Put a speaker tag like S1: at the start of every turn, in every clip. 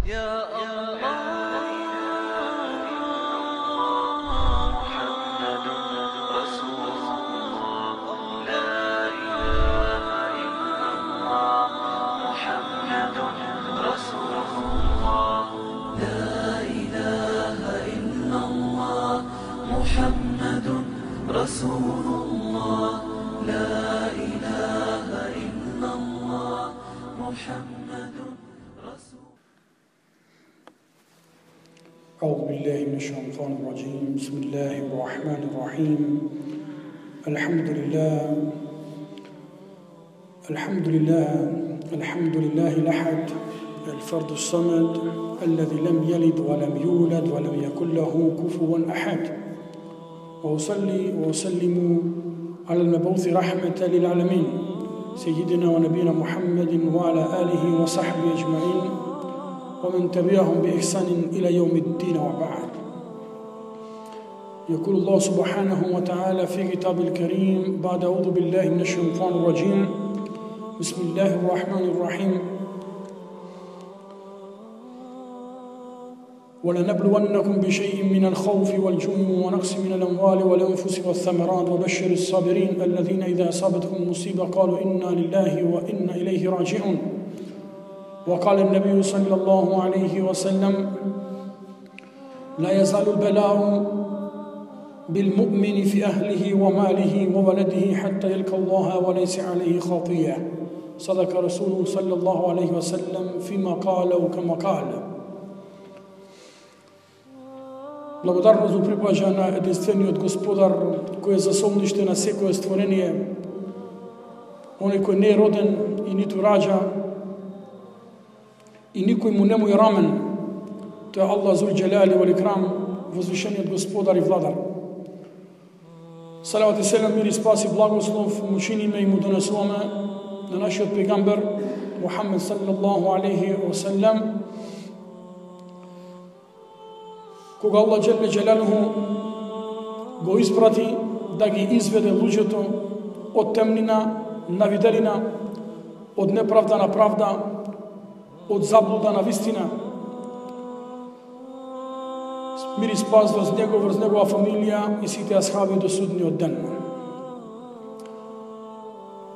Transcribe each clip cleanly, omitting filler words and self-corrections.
S1: يا الله محمد رسول الله لا إله إلا الله محمد رسول الله لا إله إلا الله محمد رسول الله لا إله إلا الله محمد رسول.
S2: أعوذ بالله من الشيطان الرجيم. بسم الله الرحمن الرحيم. الحمد لله الأحد الفرد الصمد الذي لم يلد ولم يولد ولم يكن له كفوا أحد. وأصلي وأسلم على المبعوث رحمة للعالمين سيدنا ونبينا محمد وعلى آله وصحبه أجمعين ومن تبعهم بإحسان إلى يوم الدين وبعد. يقول الله سبحانه وتعالى في كتاب الكريم بعد أعوذ بالله من الشيطان الرجيم بسم الله الرحمن الرحيم ولنبلونكم بشيء من الخوف والجوع ونقص من الأموال والأنفس والثمرات وبشر الصابرين الذين إذا أصابتهم مصيبة قالوا إنا لله وإنا إليه راجعون. وقال النبي صلى الله عليه وسلم لا يزال البلاء بالمؤمن في أهله وماله وولده حتى يلقى الله وليس عليه خطيئة. صدق رسوله صلى الله عليه وسلم فيما قال وكما قال. Благодарност му припаѓа на единствениот Господар кој е засолниште на секое створение, оној кој не е роден и ниту раѓа и никој му нему е рамен. Тој е Аллах зул џелали вал икрам, возвишениот Господар и Владар. Салават и селам, мир и спас и благослов му чиниме и му донесуваме на нашиот пегамбер Мухаммед саллаллаху алейхи ва саллям, кога Аллах џелле џелалуху го испрати да ги изведе луѓето од темнина на виделина, од неправда на правда, од заблуда на вистина. Мир и спас врз него, врз негова фамилија и сите асхаби до судниот ден.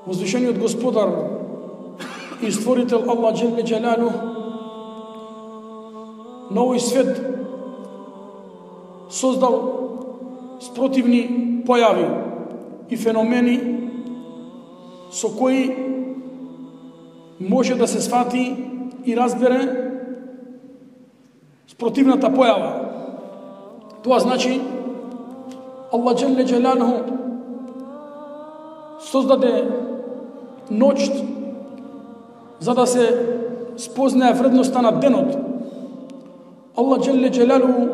S2: Возвишениот Господар и створител Аллах џелле џелалу на овој свет создал спротивни појави и феномени со кои може да се свати и разбере спротивната појава. Тоа значи Аллах џелле џелалуху создаде ноќ за да се спознае вредноста на денот. Аллах џелле џелалуху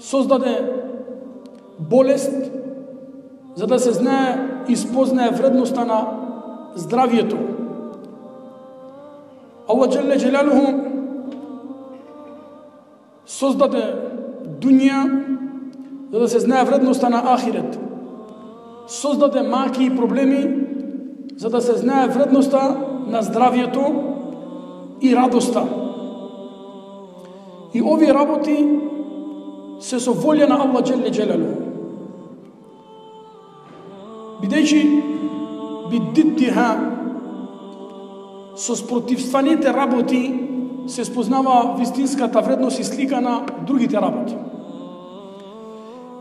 S2: создаде болест за да се знае и спознае вредноста на здравието. Аллах џелле џелалуху создаде дуња за да се знае вредноста на ахирет. Создаде маки и проблеми за да се знае вредноста на здравието и радоста. И овие работи се со волја на Аллах џелле џелалуху. Бидејќи биддиттиха со спротивстваните работи се спознава вистинската вредност и слика на другите работи.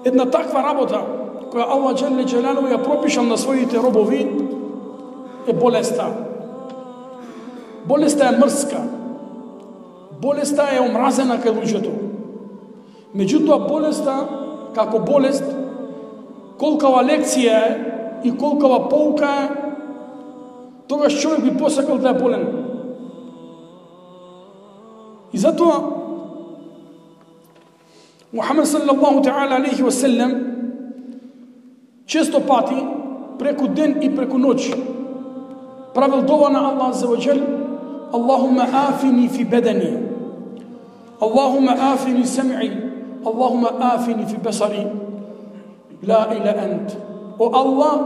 S2: Една таква работа која Аллах џелле џелалуху ја пропишал на своите робови е болеста. Болеста е мрска. Болеста е омразена кај луѓето. Меѓутоа болеста, како болест, колкава лекција е и колкава поука е, тогаш човек би посакал да е болен. И затоа Мухаммед саллаллаху та'ала алейхи ва саллям често пати, преку ден и преку ноќ, правил дова на Аллах азза ва џел: Аллахумма афини фи бедани, Аллахумма афини сам'i, Аллахумма афини фи басари, ла иля ант. О Аллах,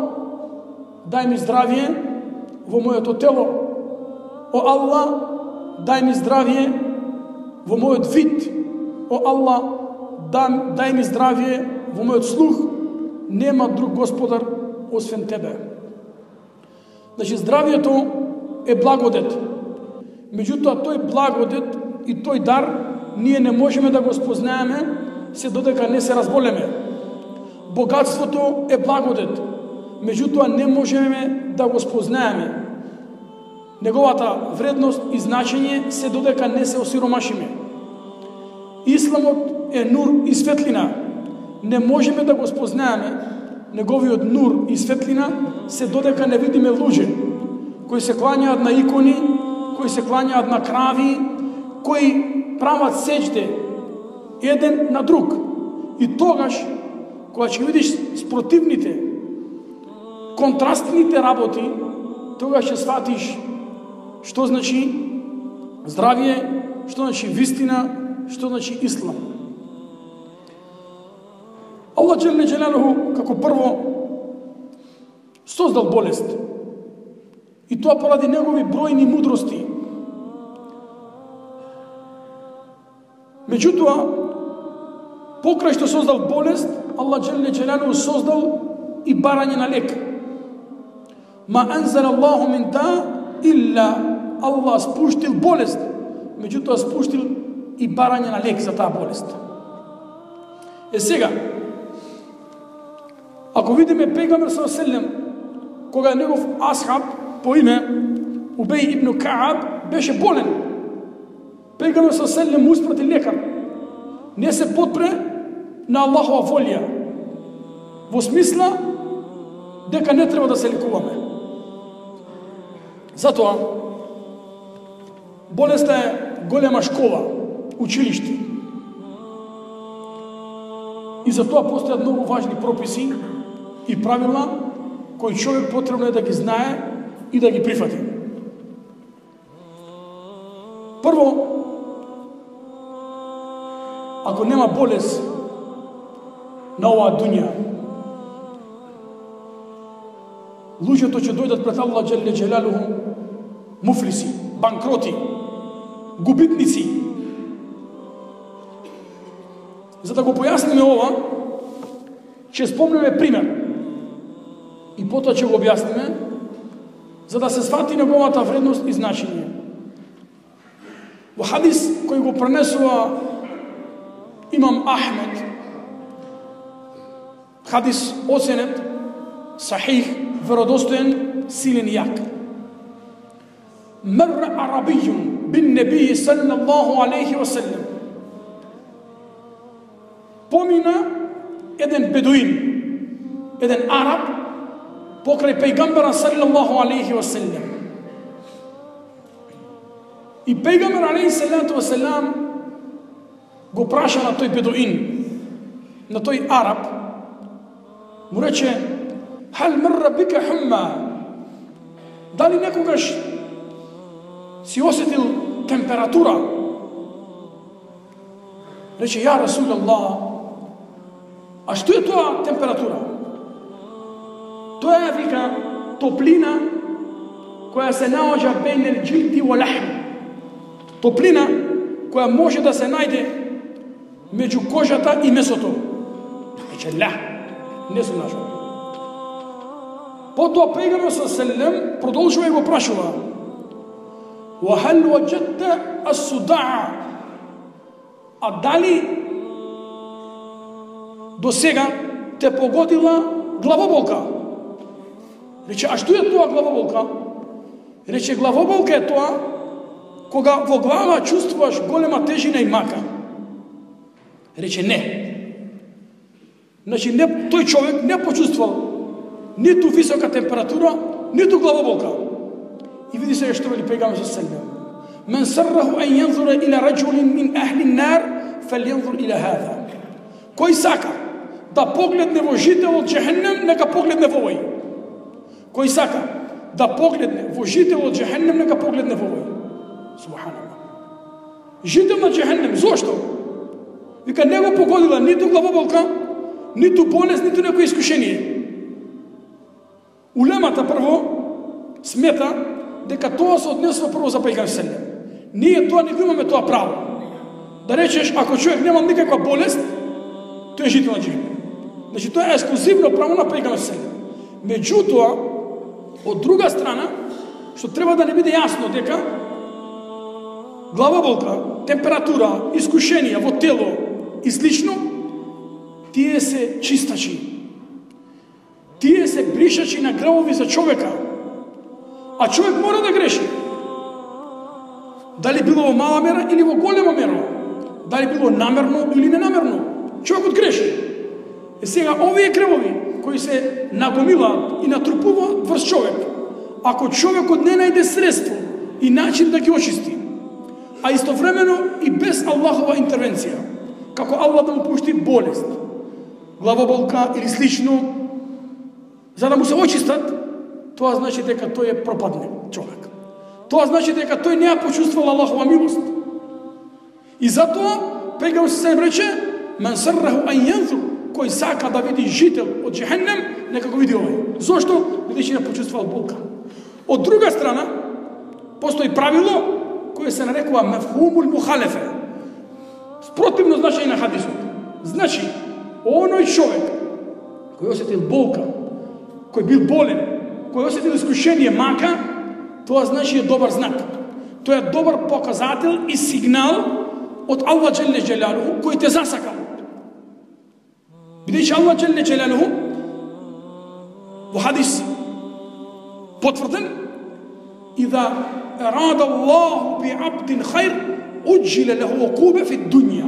S2: дај ми здравје во моето тело. О Аллах, дај ми здравје во мојот вид, о Аллах, дај ми здравје во мојот слух, нема друг господар освен тебе. Значи, здравјето е благодет. Меѓутоа, тој благодет и тој дар ние не можеме да го спознаеме се додека не се разболеме. Богатството е благодет, меѓутоа не можеме да го спознаеме неговата вредност и значење се додека не се осиромашиме. Исламот е нур и светлина. Не можеме да го спознаеме неговиот нур и светлина се додека не видиме луѓе кои се клањаат на икони, кои се клањаат на крави, кои прават сеќде еден на друг. И тогаш, кога ќе видиш спротивните, контрастните работи, тогаш ќе сватиш што значи здравје, што значи вистина, што значи ислам. Аллах Джелле Джелалуху како прво создал болест. И тоа поради негови бројни мудрости. Меѓутоа, покрај што создал болест, Аллах Джелле Джелалуху создал и барање на лек. Ма анзал Аллаху мин да илла, Аллах спуштил болест, меѓутоа спуштил и барање на лек за таа болест. Сега, ако видиме пегамбер саллаллаху алейхи ва селем, кога негов асхаб по име Убеј ибн Кааб беше болен, пегамбер саллаллаху алейхи ва селем му испрати лекар. Не се подпре на Аллахова волја, во смисла дека не треба да се лекуваме. Затоа, болеста е голема школа, училиште. И затоа постојат многу важни прописи и правила кои човек потребно е да ги знае и да ги прифати. Прво, ако нема болест на оваа дуња, луѓето ќе дојдат пред Аллах Джелле Джелалуху муфлиси, банкроти, губитници. За да го појасниме ова, ќе спомнеме пример и потоа ќе го објасниме, за да се свати неговата вредност и значење. Во хадис кој го пренесува имам Ахмед, хадис оценет сахих, веродостоен, силен и јак. Мер арабијун бин небии саллаллаху алейхи ва селлем. Помина еден бедуин, еден араб, покрај пејгамбера саллаллаху алейхи ва селлем. И пејгамбер алейхи салату ва селам го праша на тој бедуин, на тој араб, му рече: Хал мрра бика хумма, дали некогаш си осетил температура? Рече: ја Расулаллах, а што е тоа температура? Тоа е, вика, топлина која се наоѓа бейнел џилди во лахм. Топлина која може да се најде меѓу кожата и месото. Рече: ла, не сум нашол. Потоа пејгамбер саллаллаху продолжува и го прашува: Ва хал ваџадта ас-судаъ, а дали до сега те погодила главоболка? Рече: а што е тоа главоболка? Рече: главоболка е тоа кога во глава чувствуваш голема тежина и мака. Рече: не. Значи, тој човек не почувствувал ниту висока температура, ниту главоболка. И види се што вели пејгамбер саллаллаху: Мен сарраху ан јанзура ила раџулин мин ахли нар, фалјанзур ила хаза. Кој сака да погледне во жител од џехеннем, нека погледне во овој. Кој сака да погледне во жител од џехеннем, нека погледне во овој. Субханаллах. Жител на џехеннем, зошто? Вика, не го погодила ниту главоболка, ниту болест, ниту некој искушение. Улемата прво смета дека тоа се однесува прво за пејгамбер саллаллаху алейхи ва селем. Ние тоа не го имаме тоа право. да речеш, ако човек нема никаква болест, тој е жител на џехенем. Значи, тоа е ексклузивно право на пејгамбер селем. Меѓутоа, од друга страна, што треба да не биде јасно дека главоболка, температура, искушенија во тело и слично, тие се чистачи. Тие се бришачи на гревови за човека. А човек мора да греши. Дали било во мала мера или во голема мера. Дали било намерно или ненамерно. Човекот греши. Е сега, овие гревови кои се нагомилаат и натрупуваат врз човек, ако човекот не најде средство и начин да ги очисти, а истовремено и без Аллахова интервенција, како Аллах да му пушти болест, главоболка или слично, за да му се очистат, тоа значи дека тој е пропадне човек. Тоа значи дека тој не ја почувствувал Аллахова милост. И затоа пејгамбер се рече: "Мен сарраху ан јанзур", кој сака да види жител од џехенем, нека го види овој. Зошто? Бидејќи не почувствувал болка. Од друга страна, постои правило кое се нарекува мефхумул мухалефе. Спротивно значење на хадисот. Значи, оној човек кој осетил болка, кој бил болен, кој осетил искушение, мака, тоа значи е добар знак. Тоа е добар показател и сигнал од Аллах џелле џелалуху кој те засакал. Бидејќи Аллах џелле џелалуху во хадис потврден: "Иза арада Аллаху би абдин хајр, уџиле леху окубе фи дуња."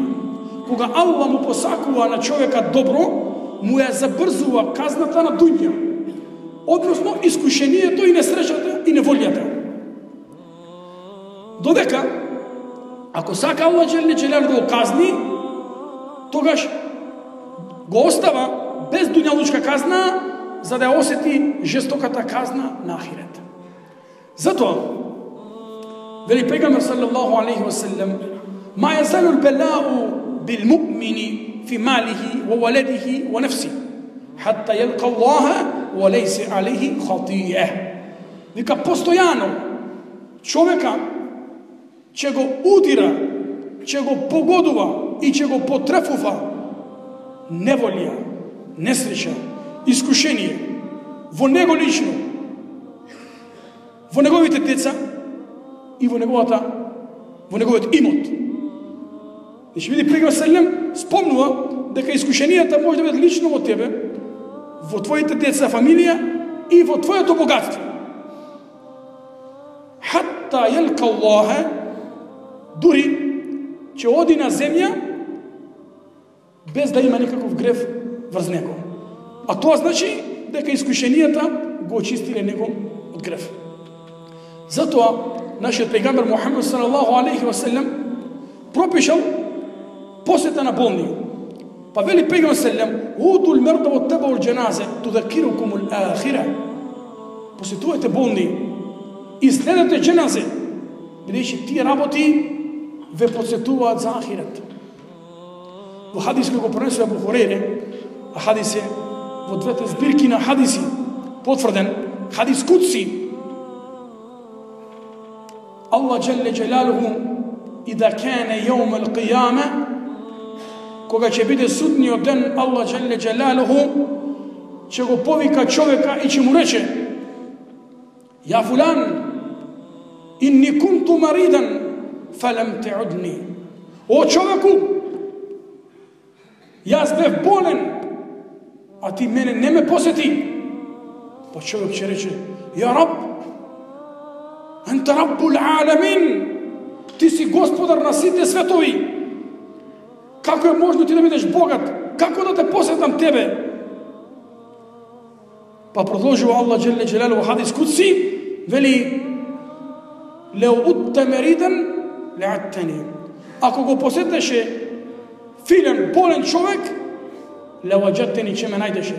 S2: Кога Аллах му посакува на човека добро, му ја забрзува казната на дуња. Односно, искушението и несреќата и неволјата. Додека, ако сака Аллах џелле џелалуху да го казни, тогаш го остава без дуњалучка казна, за да ја осети жестоката казна на ахирет. Затоа, вели пејгамбер саллаллаху алейхи ва саллем: "Ма јазалу л-бала'у бил-му'мини фи малихи ва валедихи ва нафси, хатта јалқа Аллаха ва лейсе алейхи хатије." Вика, постојано човека ќе го удира, ќе го погодува и ќе го потрефува неволја, несреќа, искушение во него лично, во неговите деца и во неговиот имот. Значи, види, пејгамбер селем спомнува дека искушенијата може да бидат лично во тебе, во твоите деца, фамилија и во твоето богатство. Хатта јалқа Аллаха, дури ќе оди на земја без да има никаков грев врз него. А тоа значи дека искушенијата го очистиле него од грев. Затоа нашиот пејгамбер Мухамед салаллаху алейхи ва саллем пропишал посета на болни. Па вели пејгамбер саллем: "Удул мерда во табаул џеназе tudakirukумул ахира." Посетувајте болни и следете џеназе, бидејќи тие работи ве подсетуваат за ахирет. Во хадис кој го пренесува Абу Хурейре, а хадис е во двете збирки на хадиси потврден, хадис кудси. Аллах џелле џелалуху ида кане јаум ал-қијама, кога ќе биде судниот ден, Аллах џелле џелалуху ќе го повика човека и ќе му рече: "Ја фулан, инни кунту маридан, фалам те'удни." О човеку, јас бев болен, а ти мене не ме посети. Па човек ќе рече: "Ја Раб, анта Раббул аламин, ти си господар на сите светови. Како е можно ти да бидеш богат? Како да те посетам тебе?" Па продолжува Аллах џелле џелалуху во хадис кудси, вели: "Леу утта меридан ле'аттани." Ако го посетеше филен, болен човек, леваджатени, ќе ме најдеше.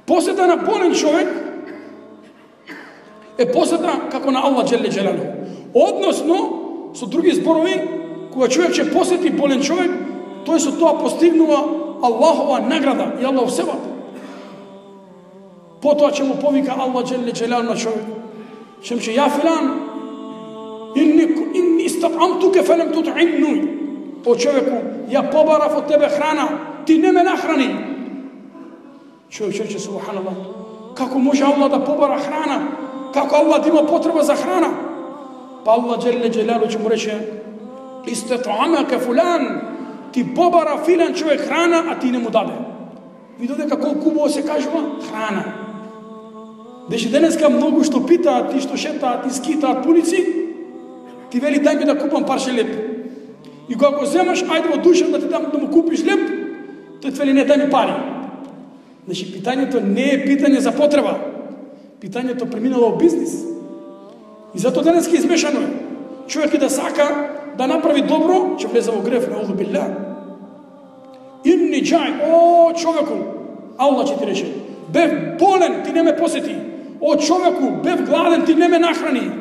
S2: Посета на болен човек е посета како на Аллах џелле џелалуху. Односно, со други зборови, кога човек ќе посети болен човек, тој со тоа постигнува Аллахова награда и Аллахов севап. Потоа ќе му повика Аллах џелле џелалуху на човек. Ќе му ќе: "Ја филан, инни истат'амтуке фалем тут'имни." о човеку, ја побарав од тебе храна, ти не ме нахрани. Човек рече, субханаллах, како може Аллах да побара храна? Како Аллах да има потреба за храна? Па Аллах джелле джелалу ќе му рече, истат'амака фулан, ти побара филан човек храна, а ти не му даде. Видо дека колку убаво се кажува храна. Деши денеска многу што питаат и што шетаат и скитаат пулици, ти вели дај ми да купам парче леп. И кога го земаш, ајде во душа да ти дам да му купиш леп, тој вели не, дај ми пари. Значи питањето не е питање за потреба. Питањето преминало во бизнис. И зато денеска измешано е. Човек да сака да направи добро, ќе влезе во греф, наузу билlah. Инни джај, о човеку, Аллах ќе ти рече, бев болен, ти не ме посети. О човеку, бев гладен, ти не ме нахрани.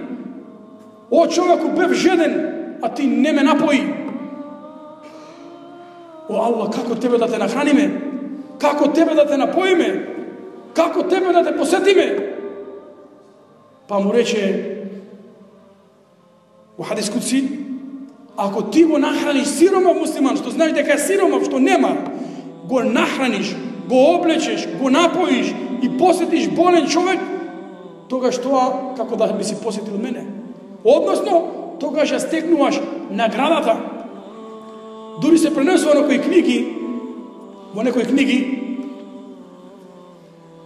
S2: О човеку, бев жеден, а ти не ме напои. О Аллах, како тебе да те нахраниме? Како тебе да те напоиме? Како тебе да те посетиме? Па му рече во хадис кудси, ако ти го нахраниш сиромав муслиман, што знаеш дека е сиромав, што нема, го нахраниш, го облечеш, го напоиш и посетиш болен човек, тогаш тоа како да би си посетил мене. Односно, тогаш ја стекнуваш наградата. Дури се пренесува во некои книги,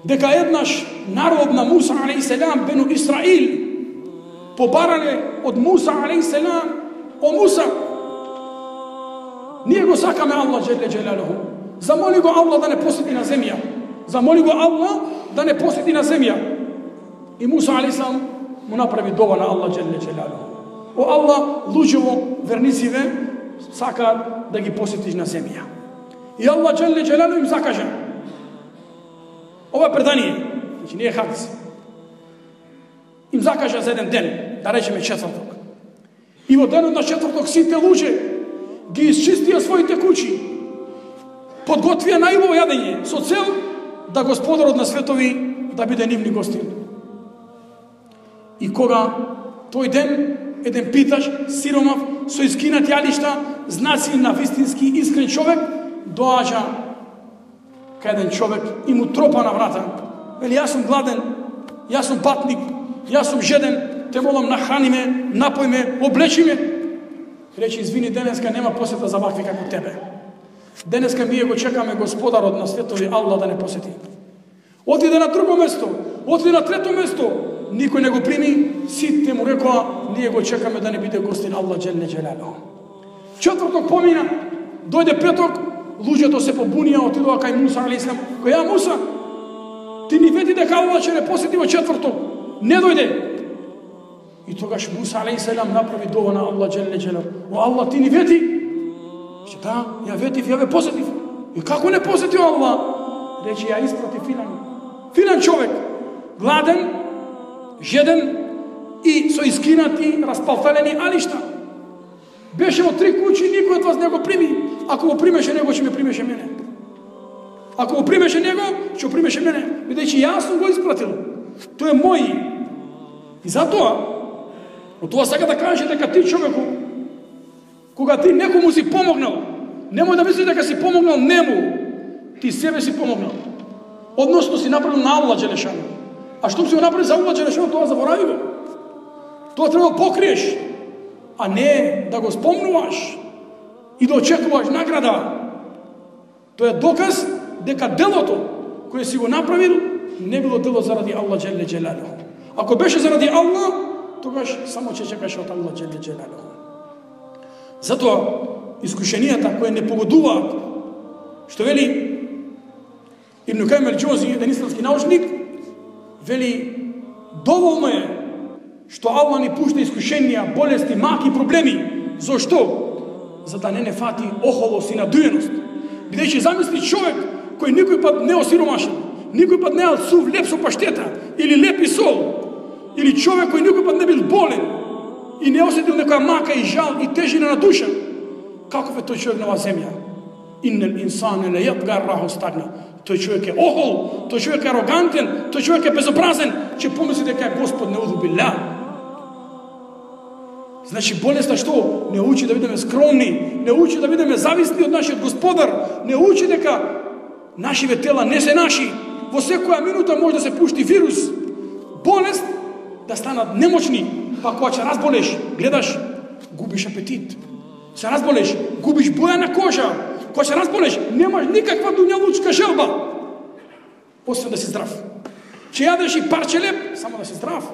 S2: дека еднаш народ на Муса алейхиселам, бену Исраил, побарале од Муса алейхиселам, о Муса, ние го сакаме Аллах джелле джелалуху, замоли го Аллах да не посети на земја, замоли го Аллах да не посети на земја. И Муса алейхиселам му направи дова на Аллах джелле джелалуху. О Аллах, луѓево вернициве сакаат да ги посетиш на земја. И Аллах джелле джелалуху им закаже. Ова предание, значи не е хадис, им закажа за еден ден, да речеме четврток. И во денот на четврток сите луѓе ги исчистија своите куќи, подготвија најубаво јадење, со цел да Господарот на светови да биде нивни гостин. И кога тој ден еден питаш, сиромав, со искинати јалишта, знаци на вистински искрен човек, доаѓа кај еден човек и му тропа на врата. Вели, јас сум гладен, јас сум патник, јас сум жеден, те молам нахрани ме, напој ме, облечи ме. Рече, извини, денеска нема посета за вакви како тебе. Денеска ние го чекаме Господарот на светови Аллах да не посети. Отиде на друго место, отиде на трето место, никој не го прими, сите му рекоа, ние го чекаме да не биде гостин Аллах джелле джелалуху. Четврток помина, дојде петок, луѓето се побунија, отидоа кај Муса алейхиселам, која Муса, ти ни вети дека Аллах ќе не посети во четврток, не дојде. И тогаш Муса алейхиселам направи дова на Аллах джелле джелалуху. О Аллах, ти ни вети? Че да, ја ветив, ја ве посетив. И како не посети Аллах? Рече, ја испрати филан човек, гладен, жеден и со искинати, распалталени алишта. Беше во 3 куќи, никој од вас не го прими. Ако го примеше него, ќе ме примеше мене. Ако го примеше него, ќе го примеше мене. Бидејќи јас сум го испратил. Тој е мој. И затоа, од тоа сака да каже дека ти човеку, кога ти некому си помогнал, немој да мислиш дека си помогнал нему, ти себе си помогнал. Односно си направил на Аллах джелешану. А што си го направи за Аллах джелешану, тоа заборави го. Тоа треба да покриеш, а не да го спомнуваш и да очекуваш награда. Тоа е доказ дека делото кое си го направил не било дело заради Аллах джелле джелалуху. Ако беше заради Аллах, тогаш само ќе чекаш од Аллах джелле джелалуху. Затоа искушенијата кои не погодуваат, што вели Ибн Кајим ел-Џаузи, еден исламски научник, вели доволно е што Аллах ни пушта искушенија, болести, маки, проблеми. Зошто? За да не фати охолост и надуеност. Бидејќи замисли човек кој никој пат не осиромашен, никој пат не ал сув леп со паштета или леп и сол, или човек кој никој пат не бил болен и не осетил некоја мака и жал и тежина на душа. Каков е тој човек на оваа земја? Иннел инсане ла јатга раху стагна. Тој човек е охол, тој човек е арогантен, тој човек е безобразен, че помисли дека е Господ, неуду билlah. Значи болеста што? Не учи да бидеме скромни, не учи да бидеме зависни од нашиот Господар, не учи дека нашиве тела не се наши. Во секоја минута може да се пушти вирус, болест, да станат немочни, па кога ќе разболеш, гледаш, губиш апетит. Се разболеш, губиш боја на кожа. Кога се разболеш, немаш никаква дуњалучка желба, освен да си здрав. Ќе јадеш и парче леп, само да си здрав.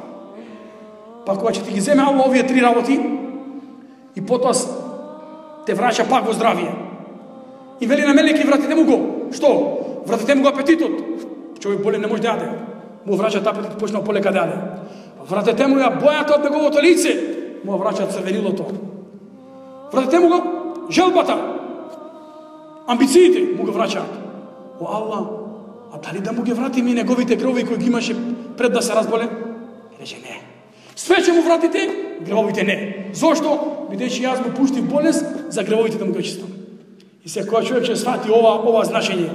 S2: Па кога ќе ти ги земе Аллах овие 3 работи, и потоа те враќа пак во здравие. И вели на мелеки, вратите му го. Што? Вратите му го апетитот. Човек болен не може да јаде. Му враќат апетит, почнал полека да јаде. Вратите му ја бојата од неговото лице, му враќат црвенилото. Вратите му го желбата, амбициите му го враќаат. О Аллах, а дали да му ги вратиме неговите гревови кои ги имаше пред да се разболе? Рече не. Свече му вратите, гревовите не. Зошто? Бидејќи јас му пуштив болест за гревовите да му ги очистам. И секој човек ќе свати ова значење.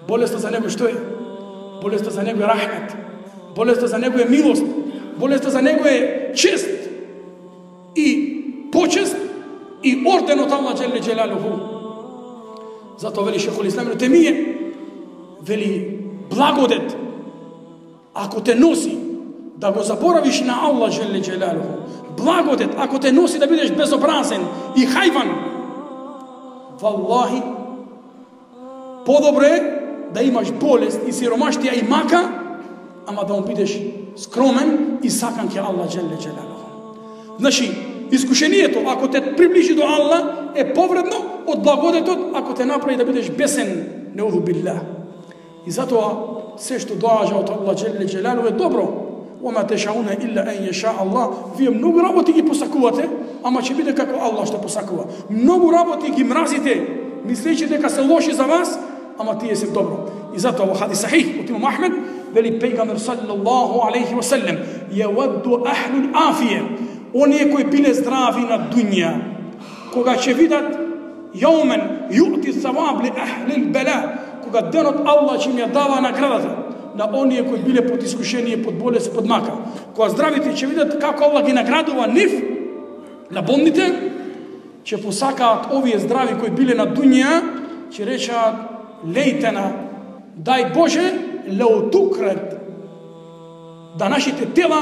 S2: Болеста за него што е? Болеста за него е рахмет. Болеста за него е милост. Болеста за него е чест и почест и орден од Аллах џелле џелалуху. Затоа вели Шейхул Ислам Ибн Теймија, вели благодет ако те носи да го заборавиш на Аллах џелле џелалуху, благодет ако те носи да бидеш безобразен и хајван, валлахи подобре да имаш болест и сиромаштија и мака, ама да му бидеш скромен и сакан ке Аллах џелле џелалуху. Значи, искушението ако те приближи до Аллах е повредно од благодетот ако те направи да бидеш бесен, неуду биллах. И затоа се што доаѓа од Аллах џелле џелалуху е добро. Ома тешауна илла ен јеша Аллах. Вие многу работи ги посакувате, ама ќе биде како Аллах што посакува. Многу работи ги мразите, мислејќи дека се лоши за вас, ама тие се добро. И затоа во хадис сахих од имам Ахмед вели пејгамбер саллаллаху алейхи ва саллем, јавадду ахлул афија, оние кои биле здрави на дуња, кога ќе видат јаумен јути саваб ли ахлил бела, кога денот Аллах ќе им ја дава наградата на оние кои биле под искушение, под болест, под мака. Кога здравите ќе видат како Аллах ги наградува нив, на болните, ќе посакаат овие здрави кои биле на дуња, ќе речаат лејтена, дај Боже, леотукрет, да нашите тела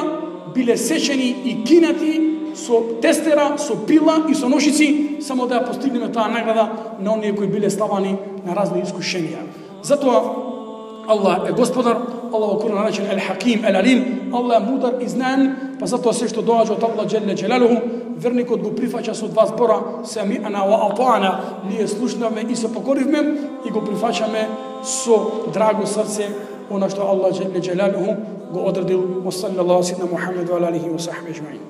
S2: биле сечени и кинати со тестера, со пила и со ножици, само да ја постигнеме таа награда на оние кои биле ставани на разни искушенија. Затоа Аллах е Господар, Аллах во Куран наречен Ел-Хаким, Ел-Алим, Аллах е мудар и знаен, па затоа се што доаѓа од Аллах џелле џелалуху, верникот го прифаќа со два збора, семи'ана ва атa'ана, ние слушнавме и се покоривме и го прифаќаме со драго срце она што Аллах џелле џелалуху го одредил. Wa sallallahu ala Muhammad wa ala alihi wa sahbihi ajma'in.